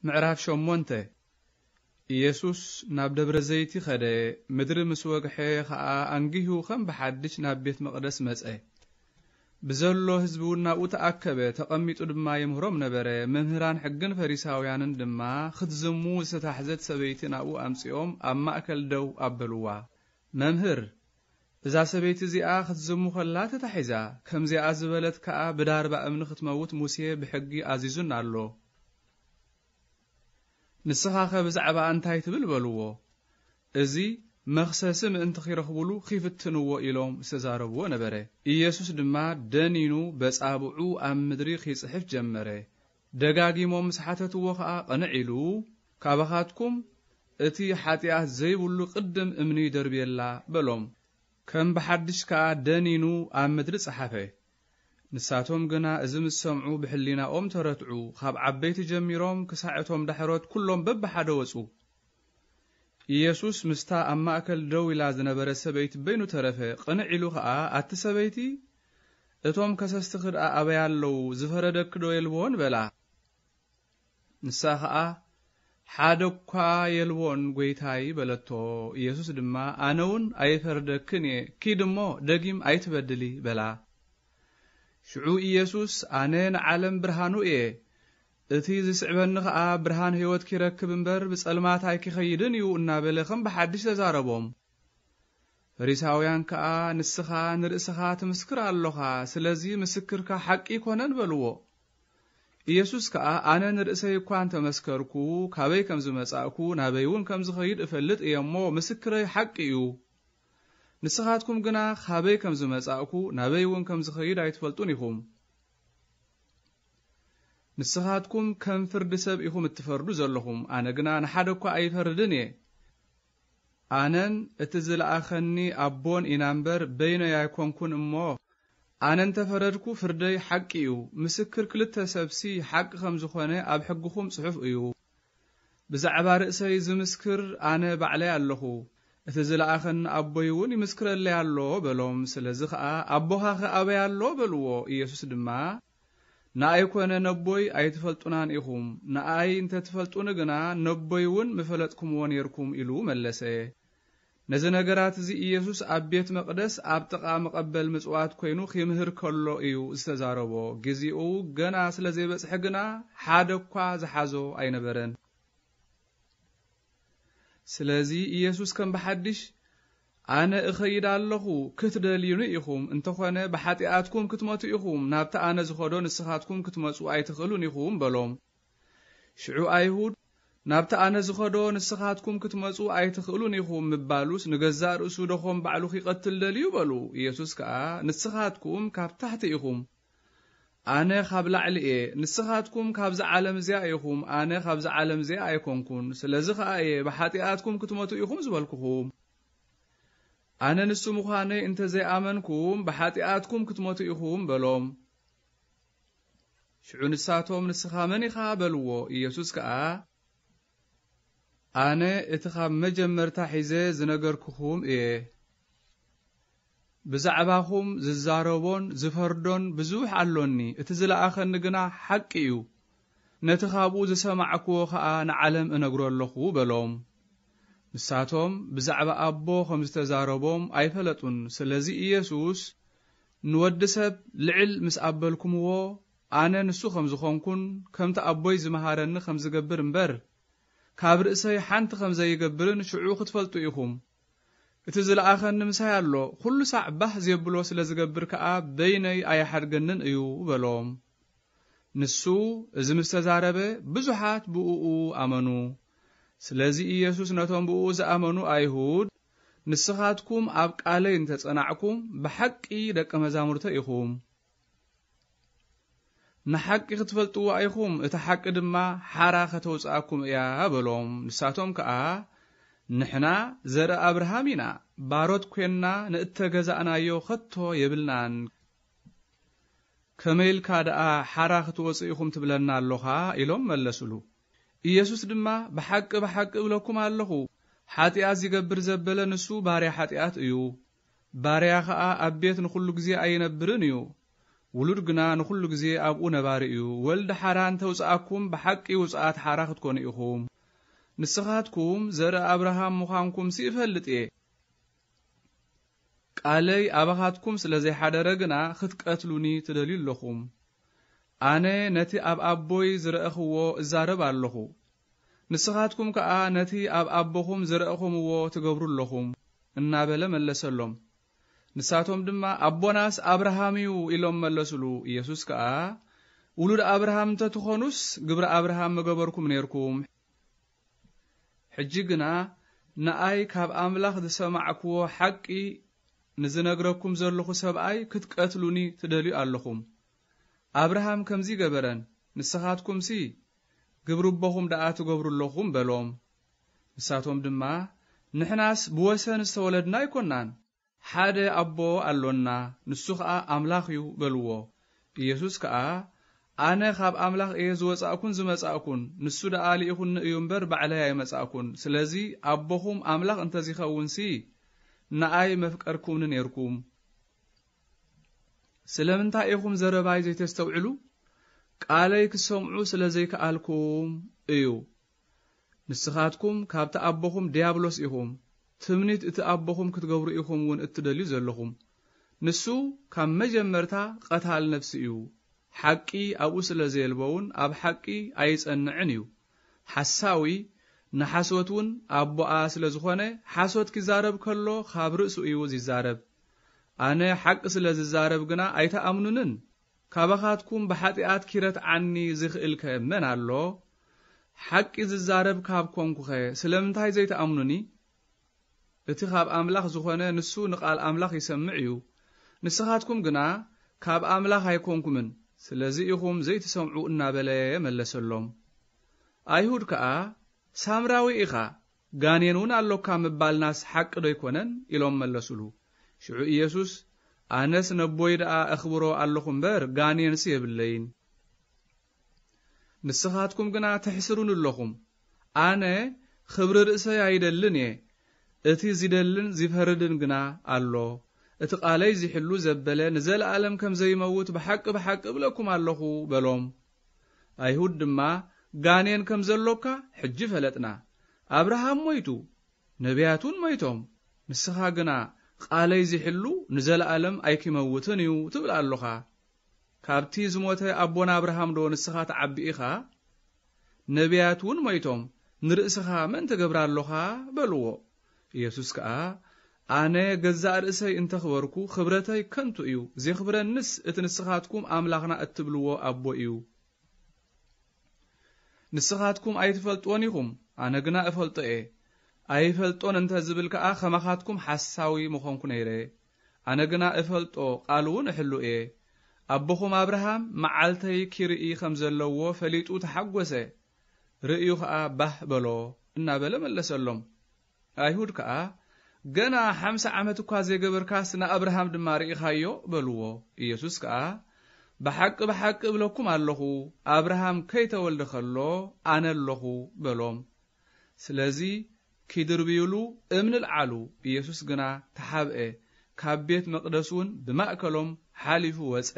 ምዕራፍ ሸሞንተ። ኢየሱስ ናብ ደብረ ዘይቲ ኸደ፣ ምድሪ ምስ ወግሐ ኸኣ ኣንጊሁ ከም ብሓድሽ ናብ ቤት መቕደስ መጸ። ብዘሎ ህዝቢ እውን ናብኡ ተኣከበ፣ ተቐሚጡ ድማ የምህሮም ነበረ። መምህራን ሕግን ፈሪሳውያንን ድማ ክትዝሙ ዝተታሕዘት ሰበይቲ ናብኡ ኣምጺኦም ኣብ ማእከል ደው ኣበልዋ። መምህር፣ እዛ ሰበይቲ እዚኣ ክትዝሙ ኸላ ተታሒዛ፣ ከምዚኣ ዝበለት ከኣ ብዳርባ እምኒ ክትመውት ሙሴ ብሕጊ ኣዚዙን ኣሎ። ንስኻኸ ብዛዕባ እንታይ ትብል በልዎ። እዚ መኽሰሲ ምእንቲ ኺረኽቡሉ ኺፍትንዎ ኢሎም ዝተዛረብዎ ነበረ። ኢየሱስ ድማ ደኒኑ በጻብዑ ኣብ ምድሪ ኺጽሕፍ ጀመረ። ደጋጊሞም ምስ ሓተትዎ ኸኣ ቅንዕ ኢሉ፣ ካባኻትኩም እቲ ሓጢኣት ዘይብሉ ቅድም እምኒ ይደርብየላ በሎም። ከም ብሓድሽ ከኣ ደኒኑ ኣብ ምድሪ ጸሓፈ። ንሳቶም ግና እዚ ምስ ሰምዑ ብሕሊናኦም ተረትዑ፣ ካብ ዓበይቲ ጀሚሮም ክሳዕ እቶም ዳሕሮት ኩሎም በብሓደ ወጹ። ኢየሱስ ምስታ ኣብ ማእከል ደው ኢላ ዝነበረት ሰበይቲ በይኑ ተረፈ። ቅንዕ ኢሉ ኸኣ፣ ኣቲ ሰበይቲ፣ እቶም ከሰስትኺ ደኣ ኣበይ ኣለዉ? ዝፈረደኪ ዶ የልቦን? በላ። ንሳ ኸኣ፣ ሓደ እኳ የልቦን፣ ጐይታይ፣ በለቶ። ኢየሱስ ድማ፣ ኣነ እውን ኣይፈርደክን እየ፣ ኪድ እሞ ደጊም ኣይትበድሊ፣ በላ። ሽዑ ኢየሱስ፣ ኣነ ንዓለም ብርሃኑ እየ፣ እቲ ዝስዕበኒ ኸኣ ብርሃን ህይወት ኪረክብ እምበር ብጸልማት ኣይኪኸይድን እዩ፣ እናበለ ኸም ብሓድሽ ተዛረቦም። ፈሪሳውያን ከኣ፣ ንስኻ ንርእስኻ ትምስክር ኣሎኻ፣ ስለዚ ምስክርካ ሓቂ ኣይኮነን፣ በልዎ። ኢየሱስ ከኣ፣ ኣነ ንርእሰይ እኳ እንተ መስከርኩ፣ ካበይ ከም ዝመጻእኩ፣ ናበይ እውን ከም ዝኸይድ እፈልጥ እየ እሞ፣ ምስክረይ ሓቂ እዩ። ንስኻትኩም ግና፣ ካበይ ከም ዝመጻእኩ፣ ናበይ እውን ከም ዝኸይድ ኣይትፈልጡን ኢኹም። ንስኻትኩም ከም ፍርዲ ሰብ ኢኹም እትፈርዱ ዘለኹም፣ ኣነ ግና ንሓደ እኳ ኣይፈርድን እየ። ኣነን እቲ ዝለኣኸኒ ኣቦን ኢና እምበር፣ በይነይ ኣይኮንኩን እሞ፣ ኣነ እንተ ፈረድኩ፣ ፍርደይ ሓቂ እዩ። ምስክር ክልተ ሰብሲ ሓቂ ከም ዝኾነ ኣብ ሕግኹም ጽሑፍ እዩ። ብዛዕባ ርእሰይ ዝምስክር ኣነ ባዕለይ ኣለኹ፣ እቲ ዝለኣኸኒ ኣቦይ እውን ይምስክረለይ ኣሎ በሎም። ስለዚ ኸኣ፣ ኣቦኻኸ ኣበይ ኣሎ? በልዎ። ኢየሱስ ድማ፣ ንኣይ ኮነ ነቦይ ኣይትፈልጡናን ኢኹም። ንኣይ እንተ ትፈልጡኒ ግና፣ ነቦይ እውን ምፈለጥኩምዎ ኔርኩም፣ ኢሉ መለሰ። ነዚ ነገራት እዚ ኢየሱስ ኣብ ቤት መቕደስ ኣብ ጥቓ መቐበል ምጽዋት ኮይኑ ኺምህር ከሎ እዩ ዝተዛረቦ። ግዜኡ ገና ስለ ዘይበጽሐ ግና፣ ሓደ እኳ ዝሓዞ ኣይነበረን። ስለዚ ኢየሱስ ከም ብሓድሽ፣ ኣነ እኸይድ ኣለኹ፣ ክትደልዩኒ ኢኹም፣ እንተኾነ ብሓጢኣትኩም ክትመቱ ኢኹም፣ ናብቲ ኣነ ዝኸዶ ንስኻትኩም ክትመጹ ኣይትኽእሉን ኢኹም በሎም። ሽዑ ኣይሁድ፣ ናብቲ ኣነ ዝኸዶ ንስኻትኩም ክትመጹ ኣይትኽእሉን ኢኹም ምባሉስ፣ ንገዛእ ርእሱ ደኾም ባዕሉ ኺቐትል ደልዩ በሉ። ኢየሱስ ከኣ፣ ንስኻትኩም ካብ ታሕቲ ኢኹም፣ ኣነ ኻብ ላዕሊ እየ። ንስኻትኩም ካብዛ ዓለም እዚኣ ኢኹም፣ ኣነ ኻብዛ ዓለም እዚኣ ኣይኮንኩን። ስለዚ ኸኣ እየ ብሓጢኣትኩም ክትመቱ ኢኹም ዝበልኩኹም። ኣነ ንሱ ምዃነይ እንተ ዘይኣመንኩም፣ ብሓጢኣትኩም ክትመቱ ኢኹም በሎም። ሽዑ ንሳቶም፣ ንስኻ መን ኢኻ? በልዎ። ኢየሱስ ከኣ፣ ኣነ እቲ ኻብ መጀመርታ ሒዘ ዝነገርኩኹም እየ። ብዛዕባኹም ዝዛረቦን ዝፈርዶን ብዙሕ ኣሎኒ፣ እቲ ዝለኣኸኒ ግና ሓቂ እዩ። ነቲ ኻብኡ ዝሰማዕክዎ ኸኣ ንዓለም እነግሮ ኣለኹ በሎም። ንሳቶም ብዛዕባ ኣቦ ኸም ዝተዛረቦም ኣይፈለጡን። ስለዚ ኢየሱስ፣ ንወዲ ሰብ ልዕል ምስ ኣበልኩምዎ፣ ኣነ ንሱ ኸም ዝኾንኩን ከምቲ ኣቦይ ዝመሃረኒ ኸም ዝገብር እምበር፣ ካብ ርእሰይ ሓንቲ ኸም ዘይገብርን ሽዑ ክትፈልጡ ኢኹም። እቲ ዝለኣኸኒ ምሳይ ኣሎ፣ ኹሉ ሳዕ ባህ ዜብሎ ስለ ዝገብር ከኣ በይነይ ኣይሓድገንን እዩ በሎም። ንሱ እዚ ምስ ተዛረበ ብዙሓት ብእኡ ኣመኑ። ስለዚ ኢየሱስ ነቶም ብእኡ ዝኣመኑ ኣይሁድ፣ ንስኻትኩም ኣብ ቃለይ እንተ ጸናዕኩም ብሓቂ ደቀ መዛሙርተይ ኢኹም። ንሓቂ ክትፈልጥዋ ኢኹም፣ እታ ሓቂ ድማ ሓራ ከተውጽኣኩም እያ በሎም። ንሳቶም ከኣ፣ ንሕና ዘርኢ ኣብርሃም ኢና፣ ባሮት ኴንና ንእተገዛእናዮ ኸቶ የብልናን። ከመይ ኢልካ ደኣ ሓራ ክትወጹ ኢኹም ትብለና ኣሎኻ? ኢሎም መለሱሉ። ኢየሱስ ድማ፣ ብሓቂ ብሓቂ እብለኩም ኣለኹ፣ ሓጢኣት ዚገብር ዘበለ ንሱ ባርያ ሓጢኣት እዩ። ባርያ ኸኣ ኣብ ቤት ንኹሉ ግዜ ኣይነብርን እዩ። ውሉድ ግና ንኹሉ ግዜ ኣብኡ ነባሪ እዩ። ወልድ ሓራ እንተ ውጽኣኩም፣ ብሓቂ ውጽኣት ሓራ ክትኮኑ ኢኹም። ንስኻትኩም ዘርኢ ኣብርሃም ምዃንኩምሲ እፈልጥ እየ። ቃለይ ኣባኻትኩም ስለ ዘይሓደረ ግና ክትቀትሉኒ ትደልዩ ኣለኹም። ኣነ ነቲ ኣብ ኣቦይ ዝረእኽዎ እዛረብ ኣለኹ። ንስኻትኩም ከኣ ነቲ ኣብ ኣቦኹም ዝረእኹምዎ ትገብሩ ኣለኹም፣ እናበለ መለሰሎም። ንሳቶም ድማ፣ ኣቦናስ ኣብርሃም እዩ፣ ኢሎም መለሱሉ። ኢየሱስ ከኣ፣ ውሉድ ኣብርሃም እንተ ትኾኑስ፣ ግብሪ ኣብርሃም ምገበርኩም ነይርኩም። ሕጂ ግና ንኣይ ካብ ኣምላኽ ዝሰማዕክዎ ሓቂ ንዝነግረኩም ዘለኹ ሰብኣይ ክትቀትሉኒ ትደልዩ ኣለኹም። ኣብርሃም ከምዚ ገበረን፣ ንስኻትኩምሲ ግብሪ ኣቦኹም ደኣ ትገብሩ ኣለኹም በሎም። ንሳቶም ድማ፣ ንሕናስ ብወሰን ዝተወለድና ኣይኮናን፣ ሓደ ኣቦ ኣሎና፣ ንሱ ኸኣ ኣምላኽ እዩ በልዎ። ኢየሱስ ከኣ፣ ኣነ ካብ ኣምላኽ እየ ዝወጻእኩን ዝመጻእኩን፣ ንሱ ደኣ ልኢኹኒ እዩ እምበር ባዕለይ ኣይመጻእኩን። ስለዚ ኣቦኹም ኣምላኽ እንተ ዚኸውንሲ፣ ንኣይ መፍቀርኩምኒ ኔርኩም። ስለምንታይ ኢኹም ዘረባይ ዘይተስተውዕሉ? ቃለይ ክትሰምዑ ስለ ዘይከኣልኩም እዩ። ንስኻትኩም ካብቲ ኣቦኹም ድያብሎስ ኢኹም። ትምኒት እቲ ኣቦኹም ክትገብሩ ኢኹም እውን እትደልዩ ዘለኹም። ንሱ ካብ መጀመርታ ቐታል ነፍሲ እዩ። ሓቂ ኣብኡ ስለ ዘየልቦ እውን ኣብ ሓቂ ኣይጸንዕን እዩ። ሓሳዊ ንሓሶት እውን ኣቦኣ ስለ ዝኾነ፣ ሓሶት ኪዛረብ ከሎ ካብ ርእሱ እዩ ዚዛረብ። ኣነ ሓቂ ስለ ዝዛረብ ግና ኣይትኣምኑንን። ካባኻትኩም ብሓጢኣት ኪረትዓኒ ዝኽእልከ መን ኣሎ? ሓቂ ዝዛረብ ካብ ኮንኩኸ ስለምንታይ ዘይትኣምኑኒ? እቲ ካብ ኣምላኽ ዝኾነ ንሱ ንቓል ኣምላኽ ይሰምዕ እዩ። ንስኻትኩም ግና ካብ ኣምላኽ ኣይኮንኩምን፣ ስለዚ ኢኹም ዘይትሰምዑ እናበለ መለሰሎም። ኣይሁድ ከኣ፣ ሳምራዊ ኢኻ፣ ጋኔን እውን ኣሎካ ምባልናስ ሓቂ ዶ ኣይኮነን? ኢሎም መለሱሉ። ሽዑ ኢየሱስ፣ ኣነስ ነቦይ ደኣ እኽብሮ ኣለኹ እምበር ጋኔንስ የብለይን። ንስኻትኩም ግና ተሕስሩኒ ኣለኹም። ኣነ ኽብሪ ርእሰይ ኣይደልን እየ፣ እቲ ዚደልን ዚፈርድን ግና ኣሎ። እቲ ቓለይ ዚሕሉ ዘበለ ንዘለኣለም ከም ዘይመውት ብሓቂ ብሓቂ እብለኩም ኣለኹ በሎም። ኣይሁድ ድማ፣ ጋኔን ከም ዘሎካ ሕጂ ፈለጥና። ኣብርሃም ሞይቱ፣ ነቢያት እውን ሞይቶም፣ ንስኻ ግና ቃለይ ዚሕሉ ንዘለኣለም ኣይኪመውትን እዩ ትብል ኣሎኻ። ካብቲ ዝሞተ ኣቦና ኣብርሃም ዶ ንስኻ ትዓቢ ኢኻ? ነቢያት እውን ሞይቶም፣ ንርእስኻ መን ትገብር ኣሎኻ? በልዎ። ኢየሱስ ከኣ፣ ኣነ ገዛእ ርእሰይ እንተኽበርኩ፣ ኽብረተይ ከንቱ እዩ፣ ዜኽብረንስ እቲ ንስኻትኩም ኣምላኽና እትብልዎ ኣቦ እዩ። ንስኻትኩም ኣይትፈልጥዎን ኢኹም፣ ኣነ ግና እፈልጦ እየ። ኣይፈልጦን እንተ ዝብል ከኣ፣ ከማኻትኩም ሓሳዊ ምኾንኩ ነይረ። ኣነ ግና እፈልጦ፣ ቃሉ እውን እሕሉ እየ። ኣቦኹም ኣብርሃም መዓልተይ ኪርኢ ኸም ዘለዎ ፈሊጡ ተሓጐሰ። ርእዩ ኸኣ ባህ በሎ፣ እናበለ መለሰሎም። ኣይሁድ ከኣ፣ ገና ሓምሳ ዓመት እኳ ዘይገበርካስ ንኣብርሃም ድማ ርኢኻዮ? በልዎ። ኢየሱስ ከኣ፣ ብሓቂ ብሓቂ እብለኩም ኣለኹ፣ ኣብርሃም ከይተወልደ ኸሎ ኣነ ኣለኹ በሎም። ስለዚ ኪድርብዩሉ እምኒ ኣልዓሉ። ኢየሱስ ግና ተሓብአ፣ ካብ ቤት መቕደስ እውን ብማእከሎም ሓሊፉ ወጸ።